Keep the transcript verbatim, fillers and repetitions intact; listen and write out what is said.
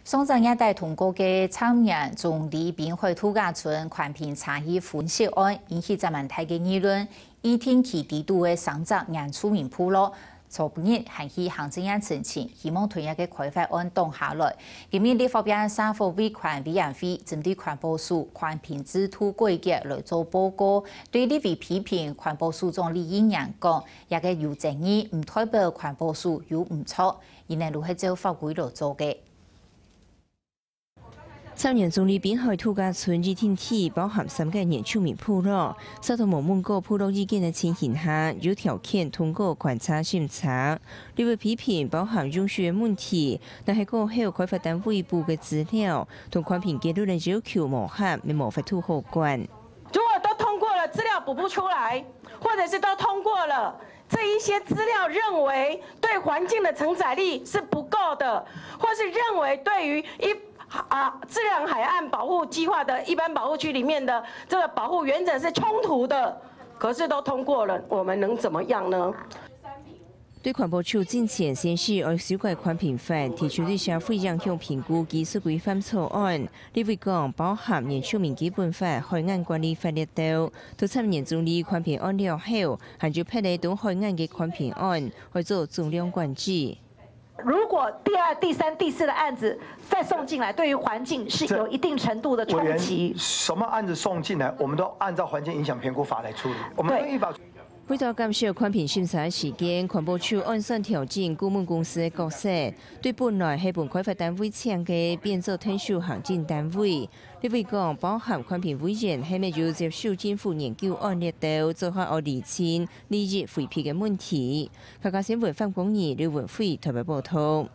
上隻月底通過个參議院總理濱海度假村寬頻差異分析案，引起遮滿大个議論。議定期底肚个三隻原住民部落，昨日還去行政院申請，希望同樣个開發案擋下來。今日立法院社會維權委員會針對環保署寬頻制度改革來做報告，對立委批評環保署長李義娘講，這个有爭議，毋代表環保署有毋著，因為就係照法規來做个。 參議院總理濱海度假村議定底包含三个原住民部落，在都無問過部落意見个情形下，有條件通過觀察審查。立委批評包含用水个問題，若係過後開發單位補个資料，同寬頻結論个要求無合，乜無法度好管。如果都通過了，資料補不出來，或者是都通過了，這一些資料認為對環境的承載力是不夠的，或是認為對於一，啊，自然海岸保護計畫的一般保護區裡面的這個保護原則是衝突的，可是都通過了，我們能怎麼樣呢？對環保署進前宣示愛修改寬頻法，提出對社會影響評估技術規範草案，立委講包含原住民基本法、海岸管理法這兜。到參議院總理寬頻案了後，還有別个東海岸个寬頻案，愛做總量管制。如果第二、第三、第四的案子再送進來，對於環境是有一定程度的衝擊。委員，什麼案子送進來，我們都按照環境影響評估法來處理，我們對。不依法。為著減少寬頻審查个時間，環保署按算調整顧問公司个角色，對本來係分開發單位請个變做特殊行政單位。立委講，包含寬頻委員係毋有接受政府研究案這兜，做好愛釐清利益回避个問題。客家新聞范光義、劉文輝台北報導。